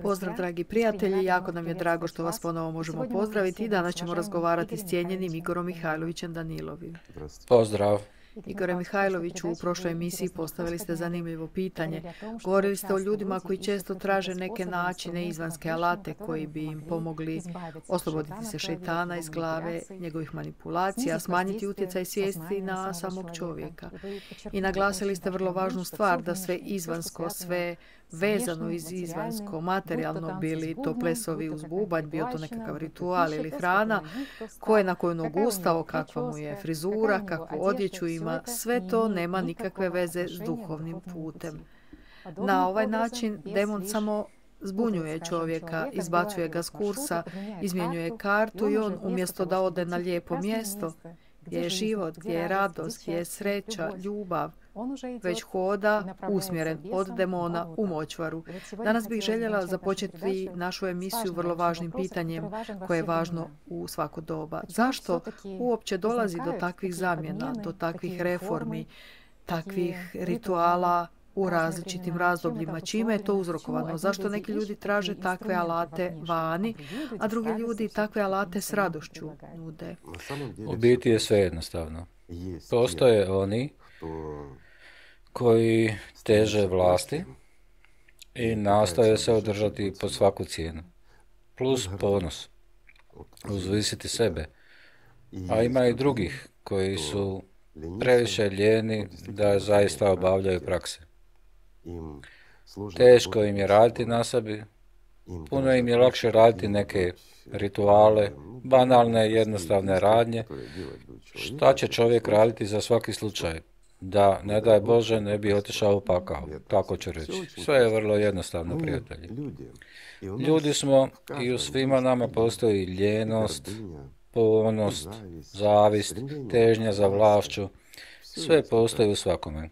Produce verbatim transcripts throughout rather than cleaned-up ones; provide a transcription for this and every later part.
Pozdrav, dragi prijatelji, jako nam je drago što vas ponovo možemo pozdraviti i danas ćemo razgovarati s cijenjenim Igorom Mihajlovićem Danilovim. Pozdrav. Igore Mihajloviću, u prošloj emisiji postavili ste zanimljivo pitanje. Govorili ste o ljudima koji često traže neke načine, izvanske alate koji bi im pomogli osloboditi se šejtana iz glave, njegovih manipulacija, smanjiti utjecaj svijesti na samog čovjeka. I naglasili ste vrlo važnu stvar, da sve izvansko, sve vezano iz izvansko, materijalno, bili to plesovi uz bubanj, bio to nekakav ritual ili hrana, ko je na koju nogu ustao, kakva mu je frizura, kakvu odjeću ima, sve to nema nikakve veze s duhovnim putem. Na ovaj način demon samo zbunjuje čovjeka, izbacuje ga s kursa, izmjenjuje kartu i on umjesto da ode na lijepo mjesto, gdje je život, gdje je radost, gdje je sreća, ljubav, već hoda usmjeren od demona u močvaru. Danas bih željela započeti našu emisiju vrlo važnim pitanjem koje je važno u svako doba. Zašto uopće dolazi do takvih zamjena, do takvih reformi, takvih rituala u različitim razdobljima? Čime je to uzrokovano? Zašto neki ljudi traže takve alate vani, a drugi ljudi takve alate s radošću nude? U biti je sve jednostavno. Postoje oni koji teže vlasti i nastoje se održati pod svaku cijenu. Plus ponos, uzvisiti sebe. A ima i drugih koji su previše lijeni da zaista obavljaju prakse. Teško im je raditi na sebi, puno im je lakše raditi neke rituale, banalne, jednostavne radnje. Šta će čovjek raditi za svaki slučaj? Da, ne daj Bože, ne bi otišao u pakao, tako ću reći. Sve je vrlo jednostavno, prijatelji. Ljudi smo i u svima nama postoji ljenost, ponos, zavist, težnja za vlašću. Sve postoji u svakome.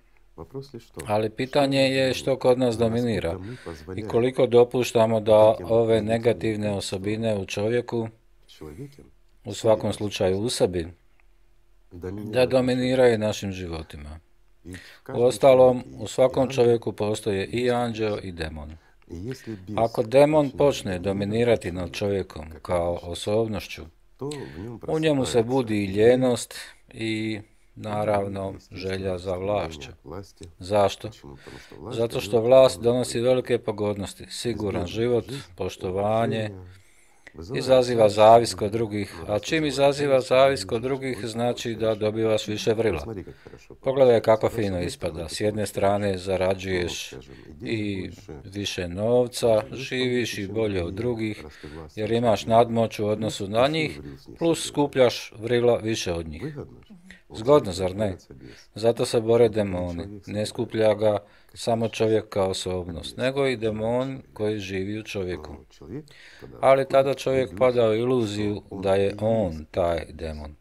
Ali pitanje je što kod nas dominira i koliko dopuštamo da ove negativne osobine u čovjeku, u svakom slučaju u sebi, da dominiraju našim životima. Uostalom, u svakom čovjeku postoje i anđeo i demon. Ako demon počne dominirati nad čovjekom kao osobnošću, u njemu se budi i ljenost i naravno želja za vlašću. Zašto? Zato što vlast donosi velike pogodnosti, siguran život, poštovanje, izaziva zavis kod drugih, a čim izaziva zavis kod drugih znači da dobivaš više vrila. Pogledaj kako fino ispada. S jedne strane zarađuješ i više novca, živiš i bolje od drugih, jer imaš nadmoć u odnosu na njih, plus skupljaš vrila više od njih. Zgodno, zar ne? Zato se bore demoni. Ne skuplja ga samo čovjek kao osobnost, nego i demon koji živi u čovjeku. Ali tada čovjek pada u iluziju da je on taj demon.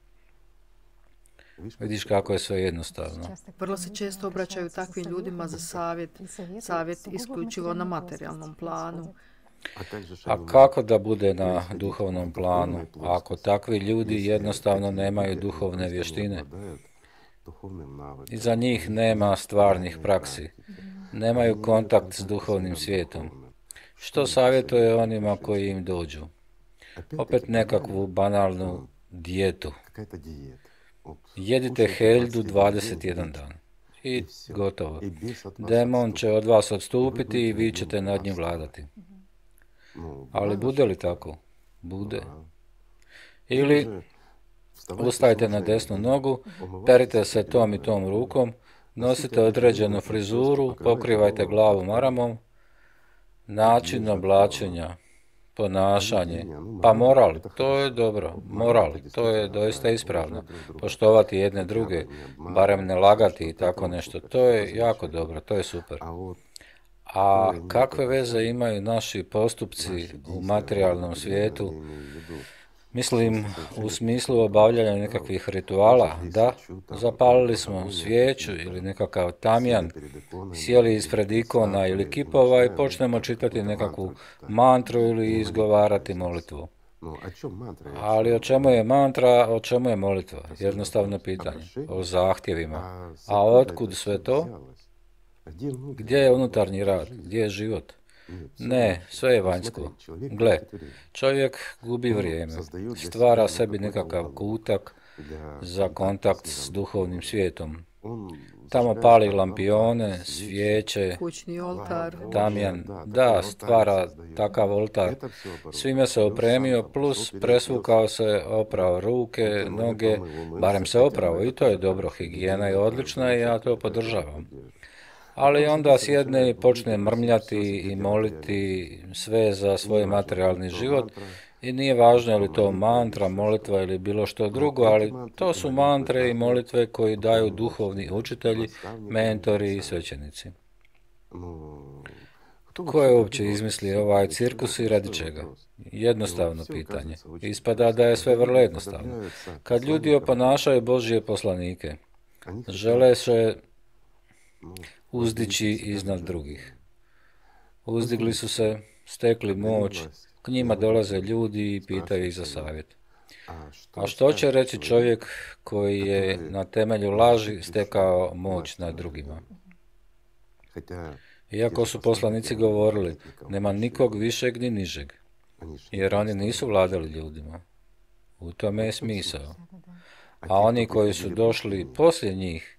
Vidiš kako je sve jednostavno. Vrlo se često obraćaju takvim ljudima za savjet, savjet isključivo na materijalnom planu. A kako da bude na duhovnom planu, ako takvi ljudi jednostavno nemaju duhovne vještine? Iza njih nema stvarnih praksi, nemaju kontakt s duhovnim svijetom. Što savjetuje onima koji im dođu? Opet nekakvu banalnu dijetu. Jedite heldu dvadeset jedan dan. I gotovo. Demon će od vas odstupiti i vi ćete nad njim vladati. Ali bude li tako? Bude. Ili ustajte na desnu nogu, perite se tom i tom rukom, nosite određenu frizuru, pokrivajte glavu maramom, način oblačenja, ponašanje, pa moral, to je dobro, moral, to je doista ispravno. Poštovati jedne druge, barem ne lagati i tako nešto, to je jako dobro, to je super. A kakve veze imaju naši postupci u materijalnom svijetu? Mislim, u smislu obavljanja nekakvih rituala, da, zapalili smo svijeću ili nekakav tamjan, sjeli ispred ikona ili kipova i počnemo čitati nekakvu mantru ili izgovarati molitvu. Ali o čemu je mantra, o čemu je molitva? Jednostavno pitanje. O zahtjevima. A otkud sve to? Gdje je unutarnji rad? Gdje je život? Ne, sve je vanjsko. Gle, čovjek gubi vrijeme, stvara sebi nekakav kutak za kontakt s duhovnim svijetom. Tamo pali lampione, svijeće, kućni oltar, tamjan, da, stvara takav oltar. Svime se opremio, plus presvukao se, oprao ruke, noge, barem se oprao i to je dobro, higijena je odlična i ja to podržavam. Ali onda sjedne i počne mrmljati i moliti sve za svoj materijalni život i nije važno je li to mantra, molitva ili bilo što drugo, ali to su mantre i molitve koji daju duhovni učitelji, mentori i svećenici. Ko je uopće izmislio ovaj cirkus i radi čega? Jednostavno pitanje. Ispada da je sve vrlo jednostavno. Kad ljudi oponašaju Božje poslanike, žele se uzdići iznad drugih. Uzdigli su se, stekli moć, k njima dolaze ljudi i pitaju ih za savjet. A što će reći čovjek koji je na temelju laži stekao moć nad drugima? Iako su poslanici govorili, nema nikog višeg ni nižeg, jer oni nisu vladali ljudima. U tome je smisao. A oni koji su došli poslije njih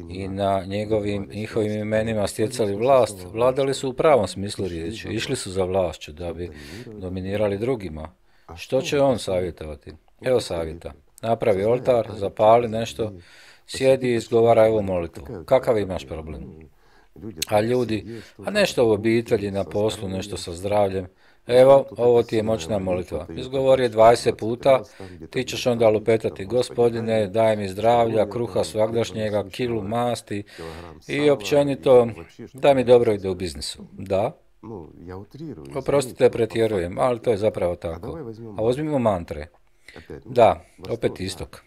i na njegovim, njihovim imenima stjecali vlast, vladali su u pravom smislu riječi, išli su za vlašću da bi dominirali drugima. Što će on savjetovati? Evo savjeta. Napravi oltar, zapali nešto, sjedi i izgovaraj ovu molitvu. Kakav imaš problem? A ljudi, a nešto u obitelji, na poslu, nešto sa zdravljem. Evo, ovo ti je moćna molitva. Izgovori je dvadeset puta, ti ćeš onda lupetati, Gospodine, daj mi zdravlja, kruha svagdašnjega, kilu masti i općenito, da mi dobro ide u biznisu. Da? Oprostite, pretjerujem, ali to je zapravo tako. A uzmimo mantre. Da, opet istok.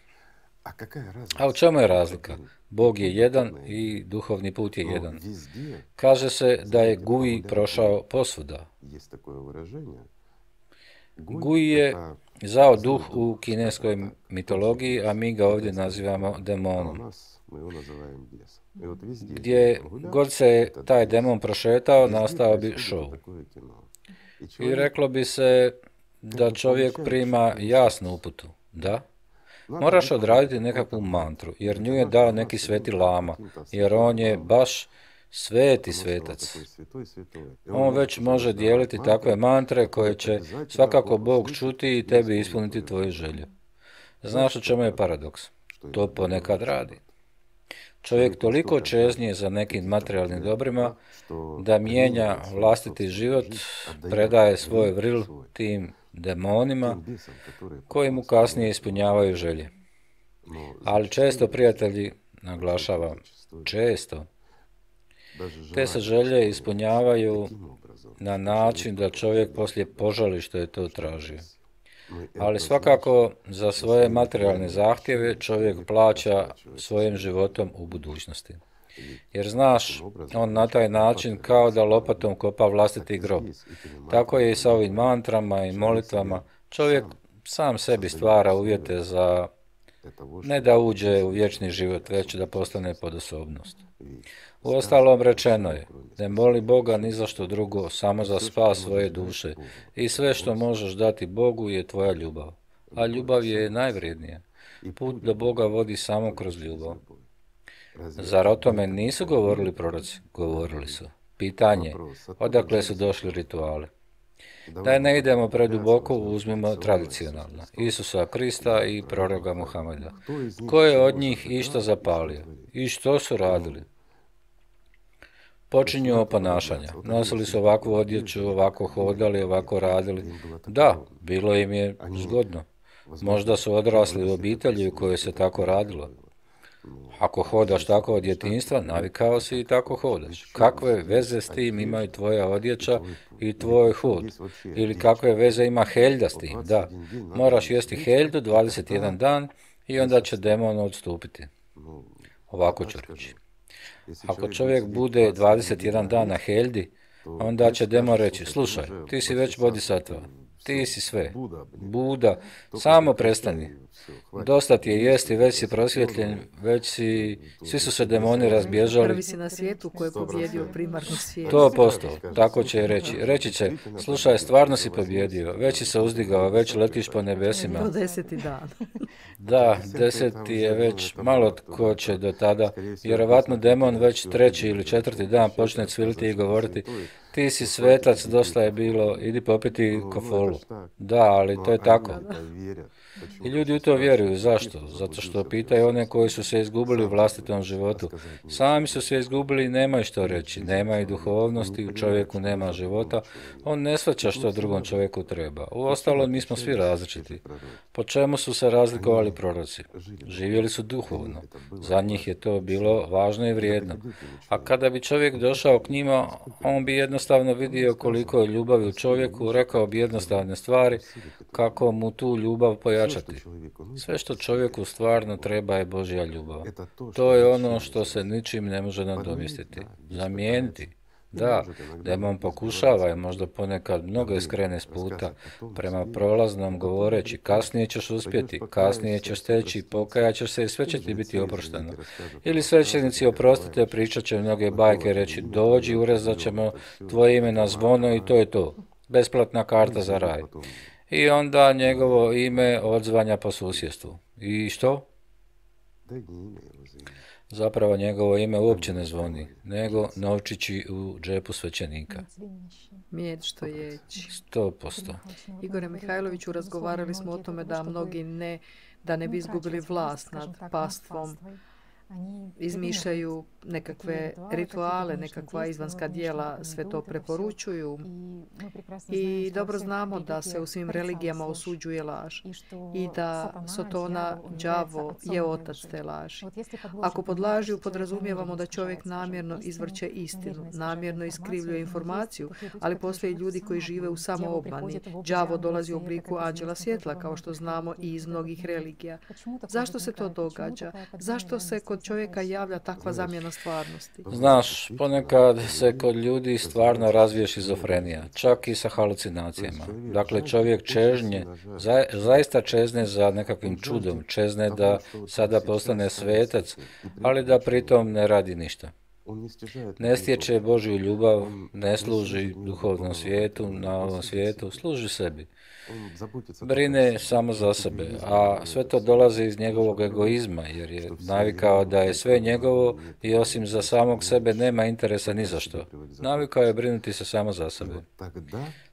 A u čemu je razlika? Bog je jedan i duhovni put je jedan. Kaže se da je Gui prošao posvuda. Gui je zao duh u kineskoj mitologiji, a mi ga ovdje nazivamo demonom. Gdje god se taj demon prošetao, nastao bi show. I reklo bi se da čovjek prima jasnu uputu. Da? Moraš odraditi nekakvu mantru, jer nju je dao neki sveti lama, jer on je baš sveti svetac. On već može dijeliti takve mantre koje će svakako Bog čuti i tebi ispuniti tvoju želju. Znaš u čemu je paradoks? To ponekad radi. Čovjek toliko čeznije za nekim materijalnim dobrima da mijenja vlastiti život, predaje svoj vril tim demonima koji mu kasnije ispunjavaju želje. Ali često, prijatelji, naglašavam, često, te se želje ispunjavaju na način da čovjek poslije požali što je to tražio. Ali svakako za svoje materijalne zahtjeve čovjek plaća svojim životom u budućnosti. Jer znaš, on na taj način kao da lopatom kopa vlastiti grob. Tako je i sa ovim mantrama i molitvama. Čovjek sam sebi stvara uvjete za ne da uđe u vječni život, već da postane podosobnost. Uostalom rečeno je, ne moli Boga ni za što drugo, samo za spas svoje duše. I sve što možeš dati Bogu je tvoja ljubav. A ljubav je najvrijednija. Put do Boga vodi samo kroz ljubav. Zar o tome nisu govorili proroci? Govorili su. Pitanje, odakle su došli rituali? Da ne idemo preduboko, uzmimo tradicionalno. Isusa Krista i proroka Muhameda. Ko je od njih išta zapalio? I što su radili? Počinju oponašanja. Nosili su ovakvu odjeću, ovako hodali, ovako radili. Da, bilo im je zgodno. Možda su odrasli u obitelji u kojoj se tako radilo. Ako hodaš tako od djetinjstva, navikao si i tako hodaš. Kakve veze s tim imaju tvoja odjeća i tvoj hod? Ili kakve veze ima heljda s tim? Da, moraš jesti heljdu dvadeset jedan dan i onda će demon odstupiti. Ovako ću reći. Ako čovjek bude dvadeset jedan dan na heljdi, onda će demon reći, slušaj, ti si već bodhisattva, Ti si sve. Buda, samo prestani. Dosta ti je jesti, već si prosvjetljen, već si, svi su se demoni razbježali. Prvi si na svijetu koji je pobjedio primarnu svijet. To posto, tako će reći. Reći će, slušaj, stvarno si pobjedio, već si se uzdigao, već letiš po nebesima. Do deseti dan. Da, deseti je već, malo tko će do tada. Vjerovatno demon već treći ili četvrti dan počne cviliti i govoriti, ti si svetac, dosta je bilo, idi popiti kofolu. Da, ali to je tako. I ljudi u to vjeruju. Zašto? Zato što pitaju one koji su se izgubili u vlastitom životu. Sami su se izgubili i nemaju što reći. Nemaju duhovnosti, u čovjeku nema života. On ne shvaća što drugom čovjeku treba. Uostalom, mi smo svi različiti. Po čemu su se razlikovali proroci? Živjeli su duhovno. Za njih je to bilo važno i vrijedno. A kada bi čovjek došao k njima, on bi jednostavno vidio koliko je ljubavi u čovjeku, rekao bi jednostavne stvari, kako mu tu ljubav pojačati. Sve što čovjeku stvarno treba je Božja ljubav. To je ono što se ničim ne može nadomjestiti. Zamijeniti. Da, demon pokušava i možda ponekad mnogo iskrene s puta prema prolaznom govoreći kasnije ćeš uspjeti, kasnije ćeš steći, pokajat ćeš se i sve će ti biti oprošteno. Ili svećenici oprostite, pričat će mnoge bajke, reći dođi, urezat ćemo tvoje ime na zvono i to je to. Besplatna karta za raj. I onda njegovo ime odzvanja po susjedstvu. I što? Zapravo njegovo ime uopće ne zvoni, nego novčići u džepu svećenika. Mijed što jeći. Sto posto. Igore Mihajloviću, razgovarali smo o tome da mnogi ne, da ne bi izgubili vlast nad pastvom, izmišljaju nekakve rituale, nekakva izvanska dijela, sve to preporučuju. I dobro znamo da se u svim religijama osuđuje laž i da Sotona, đavo, je otac te laži. Ako pod lažju podrazumijevamo da čovjek namjerno izvrće istinu, namjerno iskrivljuje informaciju, ali postoje ljudi koji žive u samoobmani. Đavo dolazi u obliku anđela svjetla, kao što znamo i iz mnogih religija. Zašto se to događa? Zašto se kod čovjeka javlja takva zamjena stvarnosti? Znaš, ponekad se kod ljudi stvarno razvije šizofrenija, čak i sa halucinacijama. Dakle, čovjek čežnje, za, zaista čezne za nekakvim čudom, čezne da sada postane svetac, ali da pritom ne radi ništa. Ne stječe Božju ljubav, ne služi duhovnom svijetu, na ovom svijetu, služi sebi. Brine samo za sebe, a sve to dolazi iz njegovog egoizma, jer je navikao da je sve njegovo i osim za samog sebe nema interesa ni za što. Navikao je brinuti se samo za sebe.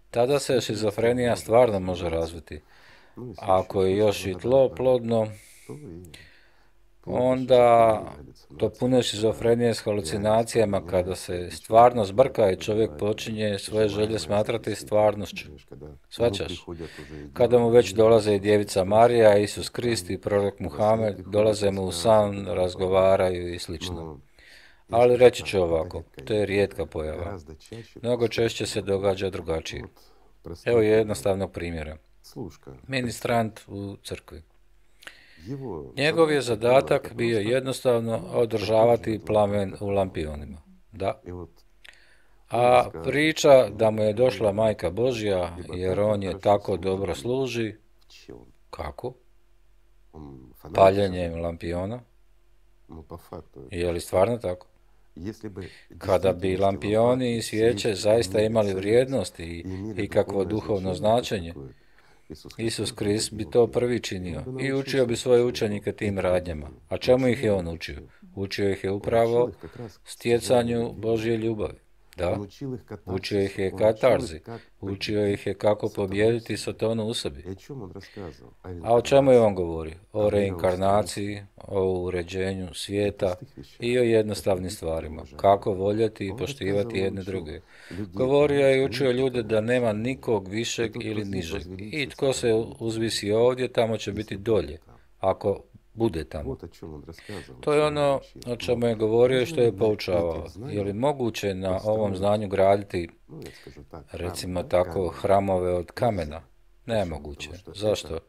Tada se šizofrenija stvarno može razviti. A ako je još i tlo plodno, onda to puno šizofrenije s halucinacijama, kada se stvarno zbrka i čovjek počinje svoje želje smatrati stvarnošću. Shvaćaš? Kada mu već dolaze i djevica Marija, Isus Krist i prorok Muhamed, dolaze mu u san, razgovaraju i slično. Ali reći ću ovako, to je rijetka pojava. Mnogo češće se događa drugačije. Evo jednostavnog primjera. Ministrant u crkvi. Njegov je zadatak bio jednostavno održavati plamen u lampionima. Da. A priča da mu je došla Majka Božja jer on je tako dobro služi, kako? Paljenjem lampiona? Je li stvarno tako? Kada bi lampioni i svijeće zaista imali vrijednost i, i kakvo duhovno značenje, Isus Krist bi to prvi činio i učio bi svoje učenike tim radnjama. A čemu ih je on učio? Učio ih je upravo stjecanju Božje ljubavi. Da, učio ih je katarzi, učio ih je kako pobijediti Sotonu u sebi. A o čemu je on govorio? O reinkarnaciji, o uređenju svijeta i o jednostavnim stvarima. Kako voljeti i poštivati jedne druge. Govorio je i učio ljude da nema nikog višeg ili nižeg. I tko se uzvisi ovdje, tamo će biti dolje. Ako bude tamo. To je ono o čemu je govorio i što je poučavao. Je li moguće na ovom znanju graditi, recimo tako, hramove od kamena? Nemoguće. Zašto?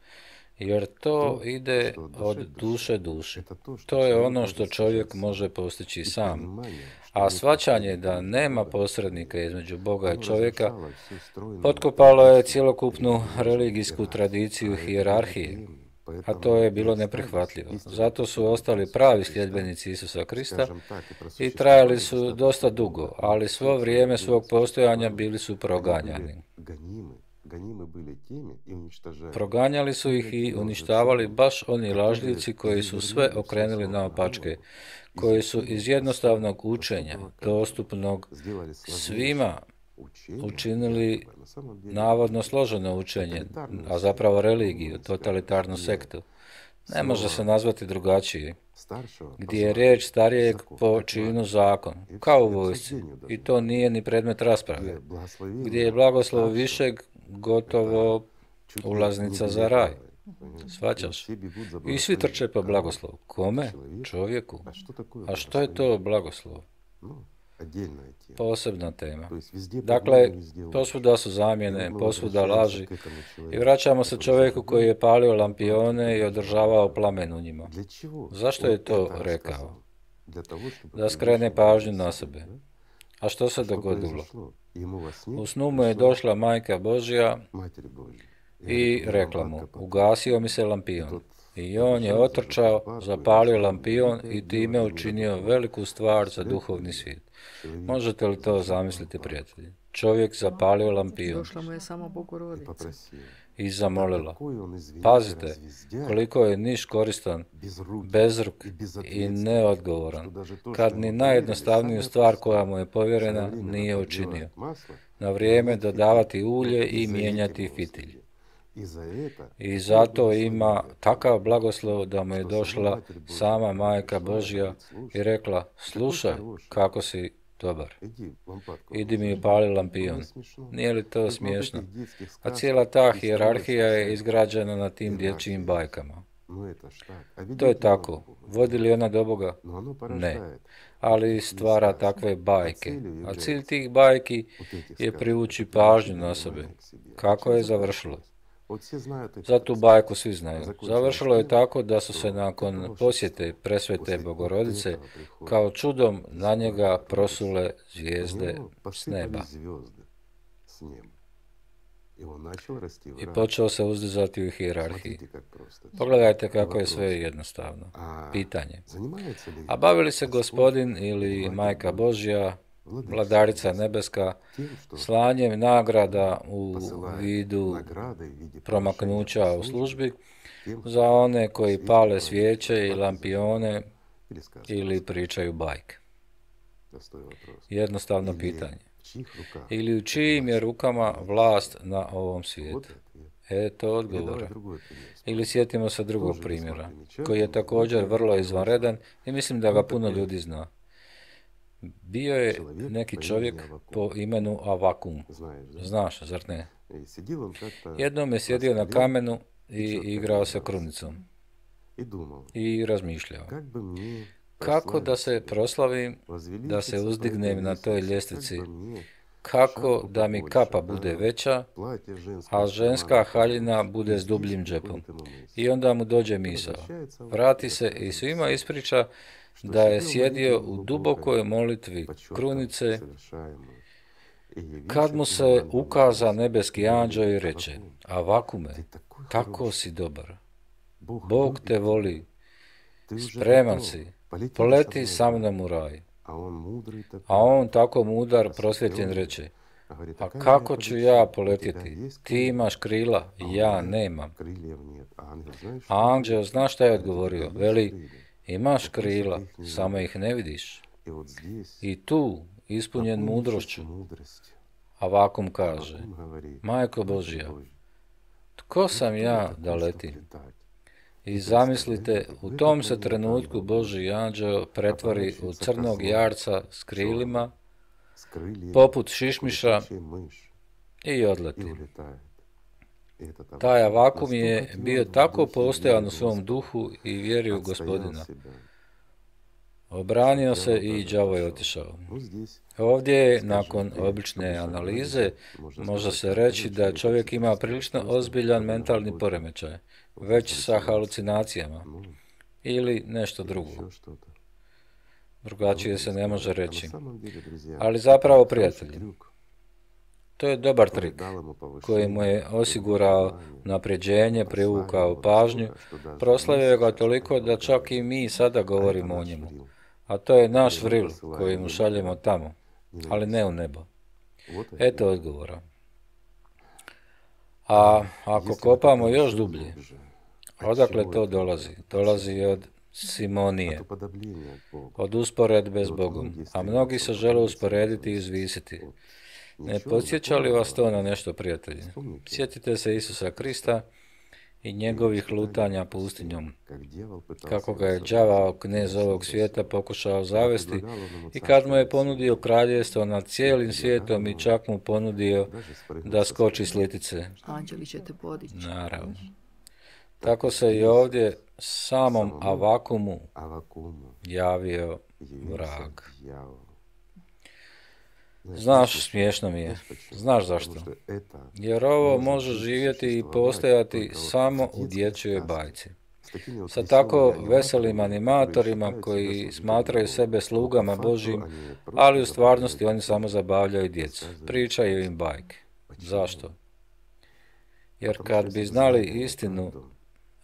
jer to ide od duše duši. To je ono što čovjek može postići sam. A shvaćanje da nema posrednika između Boga i čovjeka potkopalo je cjelokupnu religijsku tradiciju hijerarhije, a to je bilo neprihvatljivo. Zato su ostali pravi sljedbenici Isusa Krista i trajali su dosta dugo, ali svo vrijeme svog postojanja bili su proganjani. Proganjali su ih i uništavali baš oni lažljivci koji su sve okrenuli naopačke, koji su iz jednostavnog učenja, dostupnog svima, učinili navodno složeno učenje, a zapravo religiju, totalitarnu sektu. Ne može se nazvati drugačije, gdje je riječ starijeg po činu zakon, kao u vojsci, i to nije ni predmet rasprave, gdje je blagoslov višeg gotovo ulaznica za raj. Shvaćaš? I svi trče po blagoslov. Kome? Čovjeku. A što je to blagoslov? Posebna tema. Dakle, posvuda su zamjene, posvuda laži i vraćamo se čovjeku koji je palio lampione i održavao plamen u njima. Zašto je to rekao? Da skrene pažnju na sebe. A što se dogodilo? U snu mu je došla Majka Božja i rekla mu, ugasio mi se lampion. I on je otrčao, zapalio lampion i time učinio veliku stvar za duhovni svijet. Možete li to zamisliti, prijatelji? Čovjek zapalio lampion. Došla mu je samo Bogorodica. I zamolila. Pazite, koliko je niš koristan, bezruk i neodgovoran, kad ni najjednostavniju stvar koja mu je povjerena nije učinio. Na vrijeme dodavati ulje i mijenjati fitilj. I zato ima takav blagoslov da mu je došla sama Majka Božja i rekla, slušaj, kako si dobar. Idi mi upali lampion. Nije li to smiješno? A cijela ta hijerarhija je izgrađena na tim dječjim bajkama. To je tako. Vodi li ona do Boga? Ne. Ali stvara takve bajke. A cilj tih bajki je privući pažnju na sebe. Kako je završilo? Za tu bajku svi znaju. Završilo je tako da su se nakon posjete presvete Bogorodice kao čudom na njega prosule zvijezde s neba. I počeo se uzdizati u hijerarhiji. Pogledajte kako je sve jednostavno. Pitanje. A bavi li se Gospodin ili Majka Božja, Vladarica nebeska, slanjem nagrada u vidu promaknuća u službi za one koji pale svijeće i lampione ili pričaju bajke? Jednostavno pitanje. Ili u čijim je rukama vlast na ovom svijetu? Eto odgovora. Ili sjetimo se drugog primjera, koji je također vrlo izvanredan i mislim da ga puno ljudi zna. Bio je neki čovjek po imenu Avakum. Znaš, zar ne? Jednom je sjedio na kamenu i igrao se krunicom. I razmišljao. Kako da se proslavim, da se uzdignem na toj ljestvici? Kako da mi kapa bude veća, a ženska haljina bude s dubljim džepom? I onda mu dođe misao. Vrati se i svima ispriča da je sjedio u dubokoj molitvi krunice, kad mu se ukaza nebeski anđeo i reče, Avakume, tako si dobar, Bog te voli, spreman si, poleti sa mnom u raj. A on tako mudar, prosvjetljen, reče, a kako ću ja poletjeti? Ti imaš krila, ja nemam. A anđeo, znaš šta je odgovorio? Veli, imaš krila, samo ih ne vidiš. I tu, ispunjen mudrošću, Avakum kaže, Majko Božja, tko sam ja da letim? I zamislite, u tom se trenutku Božji anđeo pretvori u crnog jarca s krilima, poput šišmiša, i odleti. Taj Avakum je bio tako postojan u svom duhu i vjeri u Gospodina. Obranio se i đavo je otišao. Ovdje je, nakon obične analize, može se reći da čovjek ima prilično ozbiljan mentalni poremećaj, već sa halucinacijama, ili nešto drugo. Drugačije se ne može reći. Ali zapravo, prijatelji, to je dobar trik koji mu je osigurao napređenje, privukao pažnju, proslavio ga toliko da čak i mi sada govorimo o njemu. A to je naš vril koji mu šaljemo tamo, ali ne u nebo. Eto odgovora. A ako kopamo još dublje, odakle to dolazi? Dolazi od simonije, od usporedbe s Bogom, a mnogi se žele usporediti i izvisiti. Ne podsjeća li vas to na nešto, prijatelji? Sjetite se Isusa Krista i njegovih lutanja pustinjom, kako ga je đavao, knez ovog svijeta, pokušao zavesti i kad mu je ponudio kraljevstvo nad cijelim svijetom i čak mu ponudio da skoči s litice. Anđeli će te podići. Naravno. Tako se i ovdje samom Avakumu javio vrag. Znaš, smiješno mi je. Znaš zašto? Jer ovo može živjeti i postojati samo u dječjoj bajci. Sa tako veselim animatorima koji smatraju sebe slugama Božjim, ali u stvarnosti oni samo zabavljaju djecu. Pričaju im bajke. Zašto? Jer kad bi znali istinu,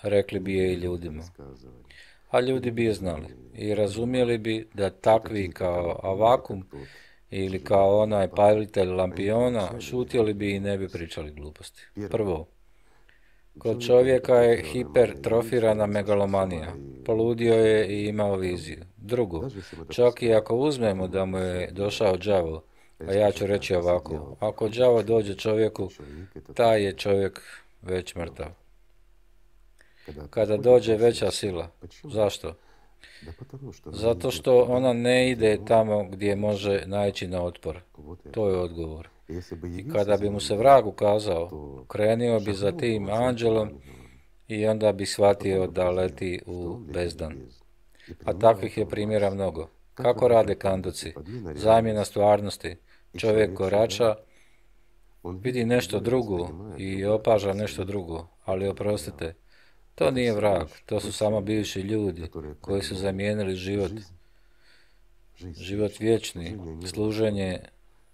rekli bi je i ljudima. A ljudi bi je znali i razumjeli bi da takvi kao Avakum ili kao onaj palitelj lampiona šutjeli bi i ne bi pričali gluposti. Prvo, kod čovjeka je hipertrofirana megalomanija. Poludio je i imao viziju. Drugo, čak i ako uzmemo da mu je došao đavo, a ja ću reći ovako, ako đavo dođe čovjeku, taj je čovjek već mrtav. Kada dođe veća sila. Zašto? Zato što ona ne ide tamo gdje može naići na otpor. To je odgovor. I kada bi mu se vrag ukazao, krenio bi za tim anđelom i onda bi shvatio da leti u bezdan. A takvih je primjera mnogo. Kako rade kanduci? Zamjena stvarnosti. Čovjek korača, vidi nešto drugo i opaža nešto drugo, ali oprostite, to nije vrag, to su samo bivši ljudi koji su zamijenili život, život vječni, služenje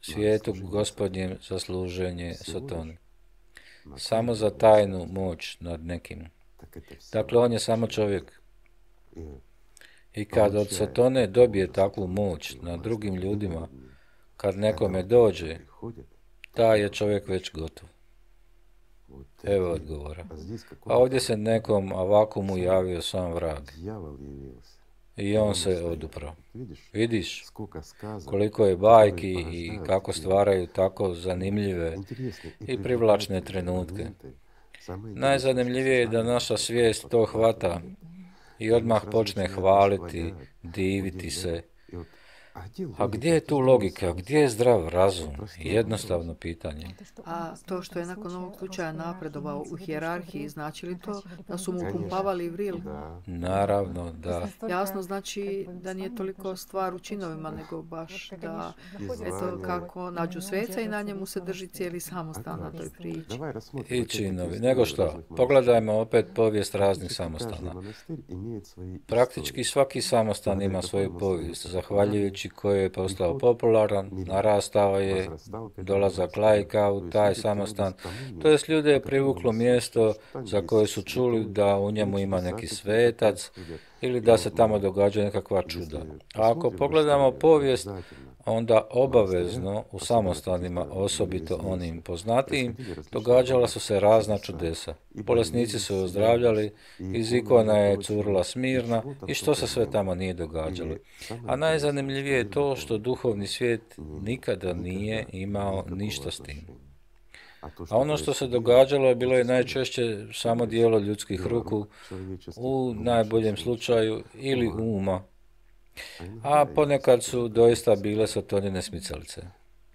svijetu Gospodnjem za služenje Sotoni. Samo za tajnu moć nad nekim. Dakle, on je samo čovjek. I kad od Sotone dobije takvu moć nad drugim ljudima, kad nekome dođe, taj je čovjek već gotov. Evo odgovora. A ovdje se nekom Avakumu javio sam vrag. I on se oduprao. Vidiš koliko je bajki i kako stvaraju tako zanimljive i privlačne trenutke. Najzanimljivije je da naša svijest to hvata i odmah počne hvaliti, diviti se. A gdje je tu logika? Gdje je zdrav razum? Jednostavno pitanje. A to što je nakon ovog slučaja napredovao u hijerarhiji, znači li to da su mu pumpavali vril? Naravno, da. Jasno, znači da nije toliko stvar u činovima, nego baš da, eto, kako nađu sveca i na njemu se drži cijeli samostan na toj priči. I činovi. Nego što? Pogledajmo opet povijest raznih samostana. Praktički svaki samostan ima svoju povijest, zahvaljujući koji je postao popularan, narastao je, dolazak laika u taj samostan. To jest, ljude je privuklo mjesto za koje su čuli da u njemu ima neki svetac ili da se tamo događa nekakva čuda. A ako pogledamo povijest, onda obavezno u samostanima, osobito onim poznatijim, događala su se razna čudesa. Bolesnici su ozdravljali, iz ikona je curila smirna i što se sve tamo nije događalo. A najzanimljivije je to što duhovni svijet nikada nije imao ništa s tim. A ono što se događalo je bilo je najčešće samo djelo ljudskih ruku, u najboljem slučaju ili uma. A ponekad su doista bile Sotonine smicalice.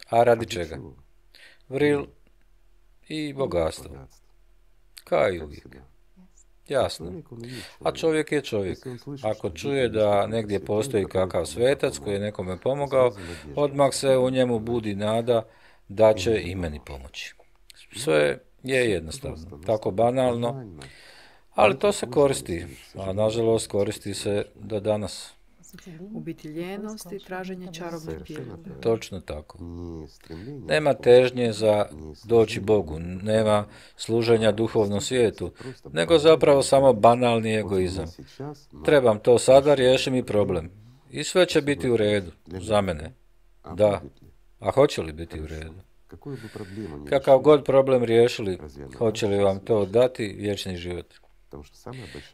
A radi čega? Vril i bogatstvo. Kao i uvijek. Jasno. A čovjek je čovjek. Ako čuje da negdje postoji kakav svetac koji je nekome pomogao, odmah se u njemu budi nada da će i meni pomoći. Sve je jednostavno, tako banalno, ali to se koristi, a nažalost koristi se do danas. U biti ljenost i traženje čarobnog dijela. Točno tako. Nema težnje za doći Bogu, nema služenja duhovnom svijetu, nego zapravo samo banalni egoizam. Trebam to sada, riješi mi problem. I sve će biti u redu, za mene. Da, a hoće li biti u redu? Kakav god problem riješili, hoće li vam to dati vječni život?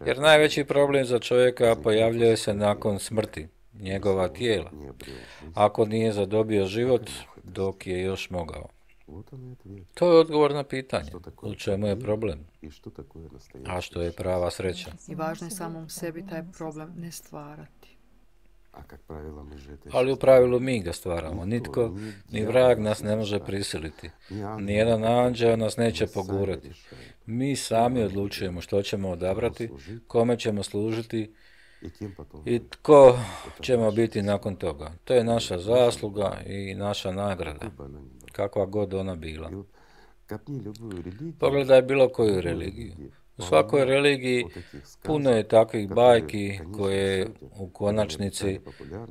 Jer najveći problem za čovjeka pojavljuje se nakon smrti, njegova tijela, ako nije zadobio život dok je još mogao. To je odgovor na pitanje, u čemu je problem, a što je prava sreća. I važno je samom sebi taj problem ne stvarati. Ali u pravilu mi ga stvaramo. Nitko, ni vrag nas ne može prisiliti. Nijedan anđeo nas neće pogurati. Mi sami odlučujemo što ćemo odabrati, kome ćemo služiti i tko ćemo biti nakon toga. To je naša zasluga i naša nagrada, kakva god ona bila. Pogledaj bilo koju religiju. U svakoj religiji puno je takvih bajki koje u konačnici,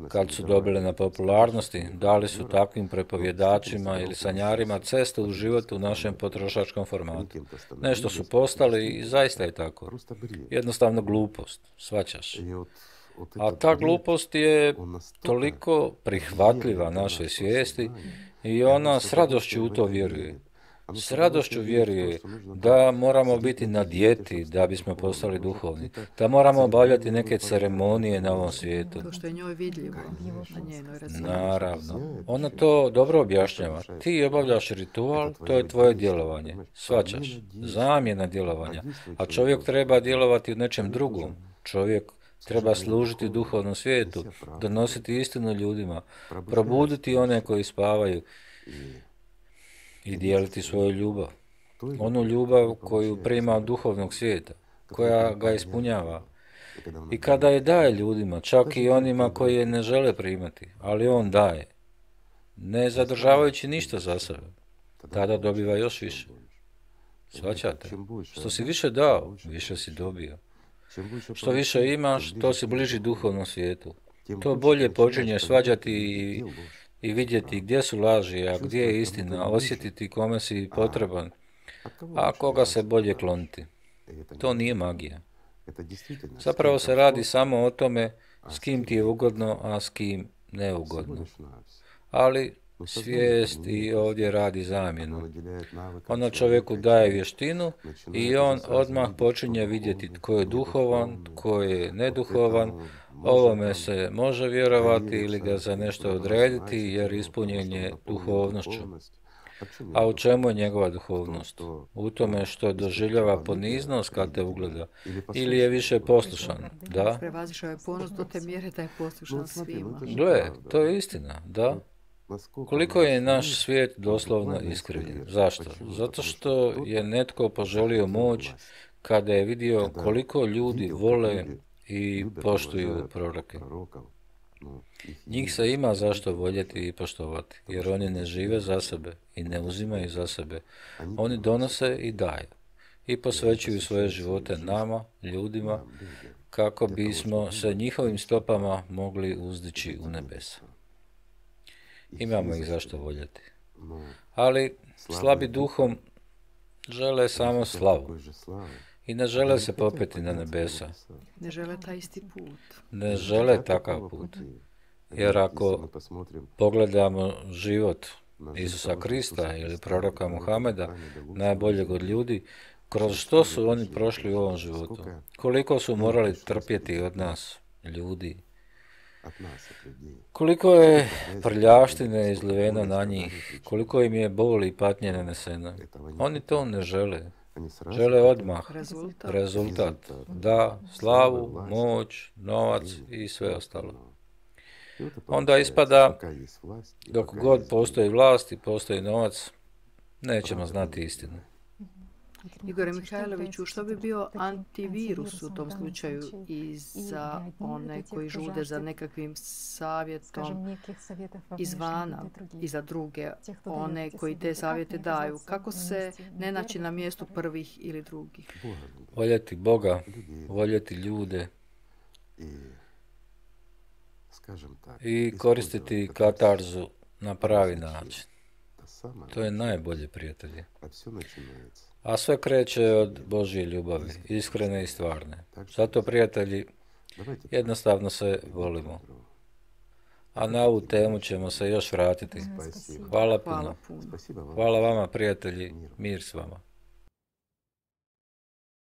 kad su dobile na popularnosti, dali su takvim prepovjedačima ili sanjarima cestu u život u našem potrošačkom formatu. Nešto su postali i zaista je tako. Jednostavno glupost, shvaćaš. A ta glupost je toliko prihvatljiva našoj svijesti i ona s radošću u to vjeruje. S radošću vjeruje da moramo biti na dijeti da bismo postali duhovni, da moramo obavljati neke ceremonije na ovom svijetu. To što je njoj vidljivo na njenoj razini. Naravno. Ona to dobro objašnjava. Ti obavljaš ritual, to je tvoje djelovanje. Shvaćaš? Zamjena djelovanja. A čovjek treba djelovati u nečem drugom. Čovjek treba služiti duhovnom svijetu, donositi istinu ljudima, probuditi one koji spavaju i dijeliti svoju ljubav. Onu ljubav koju prima od duhovnog svijeta, koja ga ispunjava. I kada je daje ljudima, čak i onima koji je ne žele primati, ali on daje, ne zadržavajući ništa za sebe, tada dobiva još više. Shvaćate? Što si više dao, više si dobio. Što više imaš, to si bliži duhovnom svijetu. To bolje počinješ svađati i i vidjeti gdje su laži, a gdje je istina, osjetiti kome si potreban, a koga se bolje kloniti. To nije magija. Zapravo se radi samo o tome s kim ti je ugodno, a s kim neugodno. Ali svijest i ovdje radi zamjenu. Ona čovjeku daje vještinu i on odmah počinje vidjeti tko je duhovan, tko je neduhovan. Ovome se može vjerovati ili ga za nešto odrediti jer ispunjen je duhovnošću. A u čemu je njegova duhovnost? U tome što doživljava poniznost kad te ugleda ili je više poslušan? Da? Prevazišao je ponos do te mjere da je poslušan svima. Gle, to je istina, da? Koliko je naš svijet doslovno iskrivljen? Zašto? Zato što je netko poželio moć kada je vidio koliko ljudi vole i poštuju proroke. Njih se ima zašto voljeti i poštovati, jer oni ne žive za sebe i ne uzimaju za sebe. Oni donose i daju i posvećuju svoje živote nama, ljudima, kako bismo se njihovim stopama mogli uzdići u nebesa. Imamo ih zašto voljeti. Ali slabi duhom žele samo slavu. I ne žele se popeti na nebesa. Ne žele taj isti put. Ne žele takav put. Jer ako pogledamo život Isusa Krista ili proroka Muhameda, najboljeg od ljudi, kroz što su oni prošli u ovom životu? Koliko su morali trpjeti od nas, ljudi? Koliko je prljavštine izliveno na njih? Koliko im je boli i patnje naneseno? Oni to ne žele. Žele odmah rezultat. rezultat. Da, slavu, moć, novac i sve ostalo. Onda ispada, dok god postoji vlast i postoji novac, nećemo znati istinu. Igore Mihajloviću, što bi bio antivirus u tom slučaju i za one koji žude za nekakvim savjetom izvana i za druge, one koji te savjete daju? Kako se ne naći na mjestu prvih ili drugih? Voljeti Boga, voljeti ljude i koristiti katarzu na pravi način. To je najbolje, prijatelji. A sve kreće od Božje ljubavi, iskrene i stvarne. Zato, prijatelji, jednostavno se volimo. A na ovu temu ćemo se još vratiti. Hvala puno. Hvala vama, prijatelji. Mir s vama.